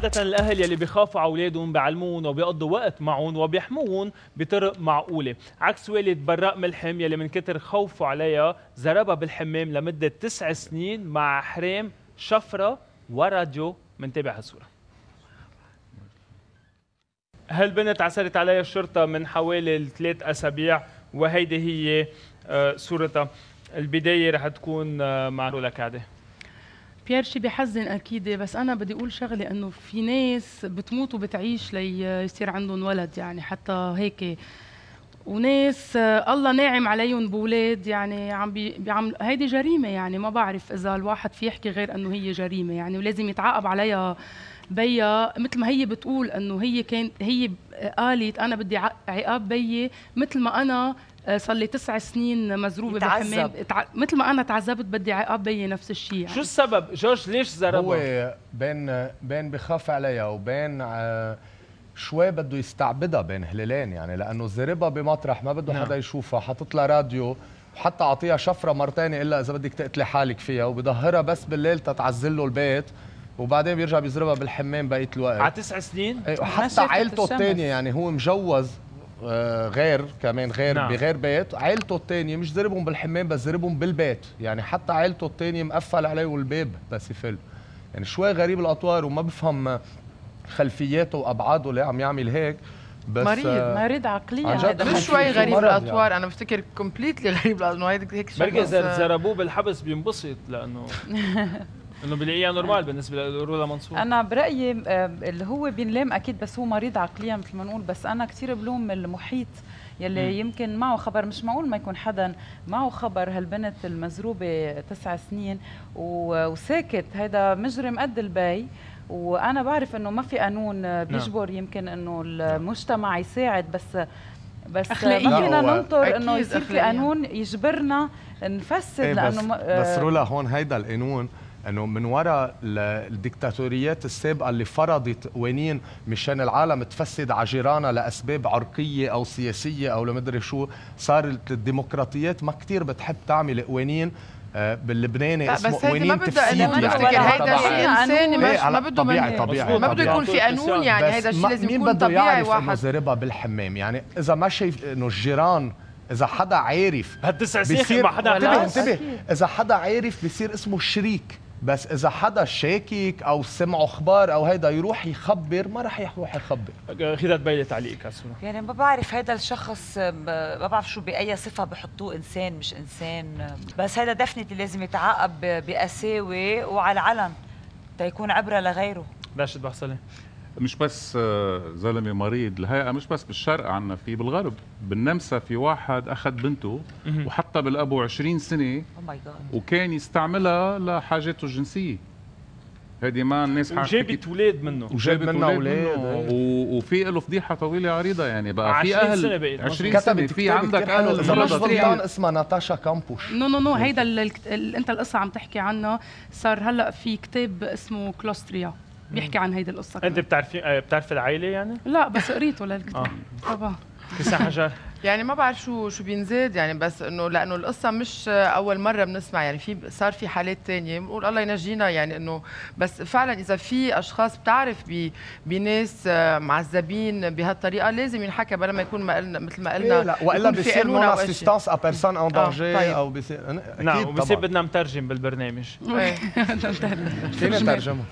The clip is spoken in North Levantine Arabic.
عادة الأهل يلي بيخافوا على أولادهم بيعلمون وبيقضوا وقت معهم وبيحموهم بطرق معقولة، عكس والد براء ملحم يلي من كتر خوفه عليها زربها بالحمام لمدة 9 سنين مع حرام شفرة وراديو. منتابع هالصورة. هالبنت عثرت عليها الشرطة من حوالي 3 أسابيع وهيدي هي صورتها. البداية رح تكون مع رولا كعدة. بيير شي بيحزن اكيد، بس انا بدي اقول شغله انه في ناس بتموت وبتعيش ليصير عندهم ولد، يعني حتى هيك، وناس الله ناعم عليهم بولاد، يعني عم هيدي جريمه، يعني ما بعرف اذا الواحد في يحكي غير انه هي جريمه يعني، ولازم يتعاقب عليها بيا مثل ما هي بتقول انه هي قالت انا بدي عقاب بيي مثل ما انا صار لي 9 سنين مزروبه بالحمام، مثل ما انا تعذبت بدي عقاب بيي نفس الشيء يعني. شو السبب جورج ليش زربها؟ هو بين بخاف عليها وبين شوي بده يستعبدها بين هلالين، يعني لانه زربها بمطرح ما بده حدا يشوفها، حاطط لها راديو وحتى اعطيها شفره مرتين الا اذا بدك تقتلي حالك فيها، وبظهرها بس بالليل تتعزل له البيت، وبعدين بيرجع بيزربها بالحمام بقيه الوقت. على 9 سنين؟ وحتى عائلته الثانيه، يعني هو مجوز غير نعم. بغير بيت، عائلته الثانيه مش زربهم بالحمام بس زربهم بالبيت، يعني حتى عائلته الثانيه مقفل عليه الباب بس يفل. يعني شوي غريب الاطوار وما بفهم خلفياته وابعاده اللي عم يعمل هيك، بس مريض عقليا. هذا مش شوي غريب الاطوار يعني. انا بفتكر كومبليتلي غريب لانه هيك بركي اذا زربوه بالحبس بينبسط لانه انه بلاقيها نورمال بالنسبه لرولا منصور. انا برايي اللي هو بينلام اكيد، بس هو مريض عقليا مثل ما نقول، بس انا كثير بلوم المحيط يلي يمكن معه خبر. مش معقول ما يكون حدا معه خبر هالبنت المزروبه 9 سنين وساكت. هيدا مجرم قد البي، وانا بعرف انه ما في قانون بيجبر يمكن انه المجتمع يساعد، بس ما فينا ننطر انه يصير في قانون يجبرنا نفسد. لانه بس رولا هون هيدا القانون انه من وراء الدكتاتوريات السابقه اللي فرضت قوانين مشان العالم تفسد على جيرانها لاسباب عرقيه او سياسيه او لمدري شو، صارت الديمقراطيات ما كثير بتحب تعمل قوانين باللبناني اسمه قوانين تفسيد. يعني هيدا شيء انساني، ما بده طبيعي ما بده يكون في قانون، يعني هيدا الشيء لازم يكون طبيعي. واحد زربها بالحمام، يعني اذا ما شايف انه الجيران، اذا حدا عارف هال9 سنين ما حدا انتبه اذا حدا عارف بيصير اسمه شريك، بس اذا حدا شاكك او سمعوا اخبار او هيدا يروح يخبر، ما رح يروح يخبر. خذت بيلي تعليقك هالسنة. يعني ما بعرف هيدا الشخص، ما بعرف شو باي صفه بحطوه، انسان مش انسان، بس هيدا دفنتي لازم يتعاقب بقساوه وعلى العلن تيكون عبره لغيره. راشد بحصلي. مش بس زلمه مريض، الهيئه مش بس بالشرق، عنا في بالغرب، بالنمسا في واحد اخذ بنته وحطها بالابو 20 سنه وكان يستعملها لحاجاته الجنسيه. هيدي ما الناس وجابت اولاد منه وفي له فضيحه طويله عريضه، يعني بقى في 20 سنه بقيت 20 سنه في عندك اهل اذا مش غلطان اسمها ناتاشا كامبوش. نو هيدا انت القصه عم تحكي عنها، صار هلا في كتاب اسمه كلوستريا بيحكي عن هيدي القصه. انت بتعرفي العائله يعني؟ لا بس قريته للكتاب. طبعا كيسان حجر. يعني ما بعرف شو بينزاد يعني، بس انه لانه القصه مش اول مره بنسمع، يعني صار في حالات ثانيه بنقول الله ينجينا، يعني انه بس فعلا اذا في اشخاص بتعرف بناس معذبين بهالطريقه لازم ينحكى بلا ما يكون مثل ما قلنا. لا والا بصير نون اسيستانس ا بيرسون ان دانجر او بصير نعم، وبصير بدنا نترجم بالبرنامج. فينا نترجمه.